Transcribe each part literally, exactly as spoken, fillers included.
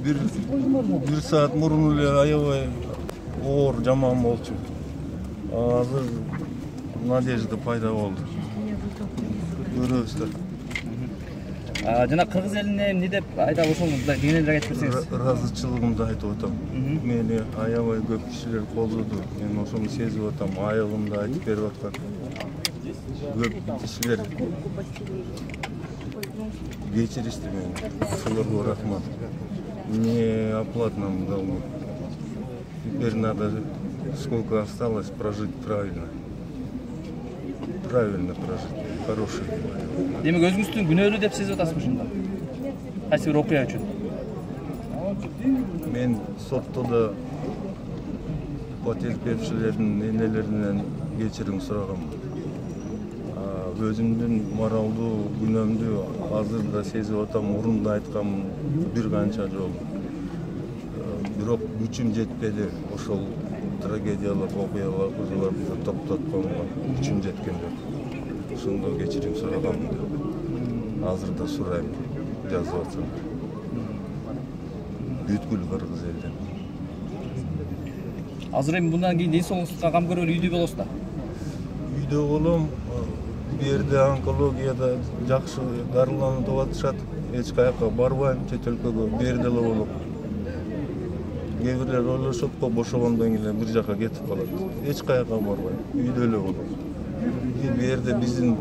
бир бир саат мурун эле аябай оор жаман болчу. Азыр надежда пайда болду. Көрөбүз да. Жана кыргыз элине эмне деп айдап ошону кеңирээк айтып берсеңиз. Ыраазычылыгымды айтып атам. Мени аябай көп кишилер колдоду. Мен ошону сезип атам. Айыгымды айтып берип аткан. Көп кишилер кечиришти мени. Ошолорго рахмат. Не оплатном долгу. Теперь надо, сколько осталось, прожить правильно. Правильно прожить. Хороший. Демек өзүңүздүн күнөөлүү деп сезип атасызбы ушунда? Кайсы бир окуя үчүн? Мен сотто да потерпевшилердин энелеринен кечирим сурагам. Өзүмдүн моралдуу күнөөмдү азыр да сезип атам, мурун да айткам бир канча жолу. Бирок күчүм жетпеди ошол трагедиялык окуяларды токтотконго. Күчүм жеткен жок. Ошондо кечирим сурагам. Азыр да сурайм, жазып атсам. Бүткүл кыргыз элден. Азыр эми мындан кийин ден соолугуңузга кам көрөлү үйдө болосуз да? Үйдө болом. Бу жерде онкологияда жакшы дарыланып атышат. Эч каяка барбайм, чет өлкөгө, бу жерде эле болом. Кээ бирлер ойлошот го бошогондон кийин бир жака кетип калат. Эч каяка барбайм, үйдө эле болом. Бу жерде биздин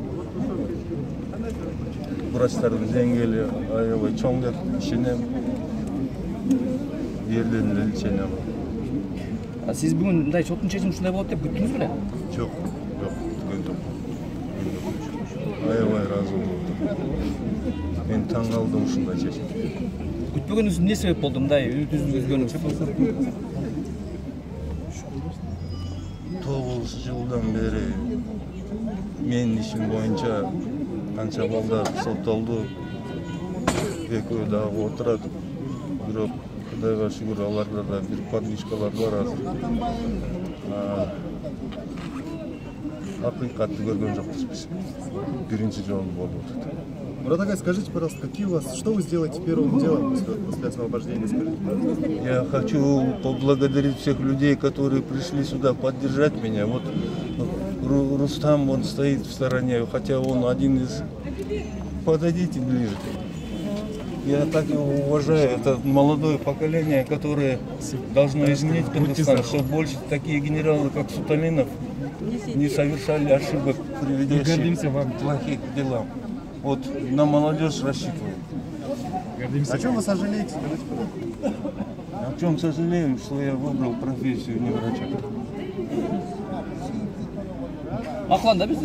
врачтардын деңгээли аябай чоң деп ишенем. Бу жерден эле ишенем. Сиз бүгүн мындай соттун чечими ушундай болот деп күттүңүз беле? Жок, жок, күткөн жок. Аябай ыраазы болдум. Мен таң калдым ушундай чечимге. Күтпөгөнүңүз эмне себеп болду мындай үзгөнүңүз? тогуз жылдан бери менин ишим боюнча канча балдар соттолду. Экөө дагы отурат. Бирок Кудайга шүгүр, аларда да бир подвижкалар бар азыр. Акыйкатты көргөн жокпуз биз. Биринчи жолу болуп атат. Мурат агай, скажите, пожалуйста, какие у вас, что вы сделаете первым делом после, после освобождения? Скажите, пожалуйста. Я хочу поблагодарить всех людей, которые пришли сюда поддержать меня. Вот Рустам, он стоит в стороне, хотя он один из... Подойдите ближе. Я так его уважаю. Это молодое поколение, которое должно изменить Кыргызстан, чтобы больше такие генералы, как Суталинов, не совершали ошибок, приведущих к плохим делам. Вот на молодежь рассчитываю. О чем вы сожалеете? О чем сожалею, что я выбрал профессию не врача. Акланда биз